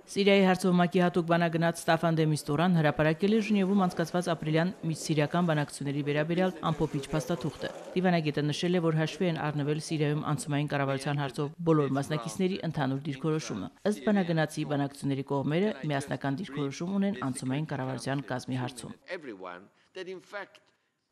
Սիրիայի հարցով ՄԱԿ-ի հատուկ բանագնաց Ստաֆան դե Միստուրան հրապարակել է Ժնևում անցկացված ապրիլյան միջսիրիական բանակցությունների վերաբերյալ ամփոփիչ փաստաթուղթը։ Դիվանագետը նշել է, որ հաշվի են առնվել Սիրիայում անցումային կառավարության հարցով բոլոր մասնակիցների ընդհանուր դիրքորոշումը։ Ըստ բանագնացի բանակցությունների կողմերը միասնական դիրքորոշում ունեն անցումային կառավարության կազմի հարցում։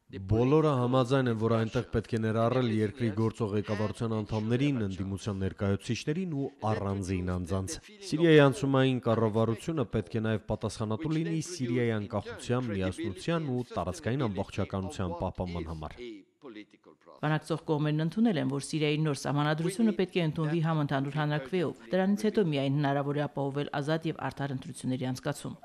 Բոլորը համաձայն են, որ այնտեղ պետք է ներառել երկրի գործող ղեկավարության անդամներին, ընդդիմության ներկայացուցիչներին ու առանձին անձանց։ Սիրիայի անցումային կառավարությունը պետք է նաև պատասխանատու լինի Սիրիայի անկախության, միասնության ու տարածքային ամբողջականության պահպանման համար։ Բանակցող կողմերն ընդունել են, որ Սիրիայի նոր սահմանադրությունը պետք է ընդունվի համընդհանուր հանրաքվեով։ Դրանից հետո միայն հնարավոր է ապահովել ազատ եւ արդար ընտրությունների անցկացում։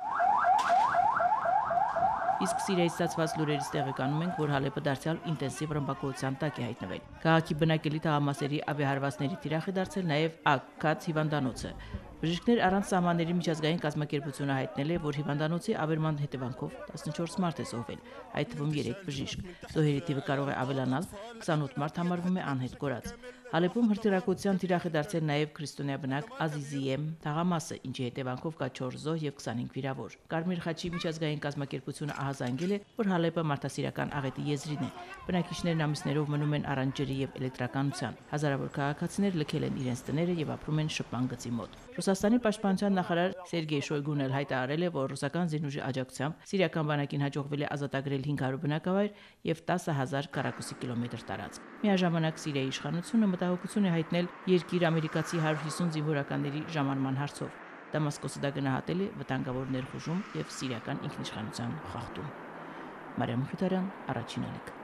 Իսկ Սիրիայից ստացված լուրերից տեղեկանում ենք, որ Հալեպը դարձյալ ինտենսիվ ռմբակոծության տակ է հայտնվել։ Քաղաքի բնակելի թաղամասերի ավիահարվածների թիրախ է դարձել նաև Աքքաց հիվանդանոցը։ Բժիշկներ առանց սահմանների միջազգային կազմակերպությունը հայտնել է, որ հիվանդանոցի ավերման հետևանքով 14 մարդ է զոհվել, այդ թվում 3 բժիշկ։ Զոհերի թիվը կարող է ավելանալ, 28 մարդ համարվում է անհետ կորած։ Հալեպում հրթիռակոծության թիրախ է դարձել նաև քրիստոնեաբնակ Ազիզիեմ թաղամասը, ինչի հետևանքով կա 4 զոհ եւ 25 վիրավոր։ Կարմիր խաչի միջազգային կազմակերպությունը ահազանգել է, որ Հալեպը մարդասիրական աղետի եզրին է։ Բնակիչներն ամիսներով մնում են առանց ջրի եւ էլեկտրականության։ Հազարավոր քաղաքացիներ լքել են իրենց տները եւ ապրում են շփման գծի մոտ։ Ռուսաստանի պաշտպանության նախարար Սերգեյ Շոյգուն էլ հայտարարել է, որ ռուսական զինուժի աջակցությամբ սիրիական բանակին հաջողվել է ազատագրել 500 բնակավայր եւ 10,000 քառակուսի կիլոմետր տարածք։ Միաժամանակ Սիրիայի իշխանությունը մտահոգություն է հայտնել երկիր ամերիկացի 150 զինվորականների ժամանման հարցով։ Դամասկոսը դա գնահատել է վտանգավոր ներխուժում եւ սիրիական ինքնիշխանության խախտում։ Մարիամ Խութարյան, Առաջին ալիք։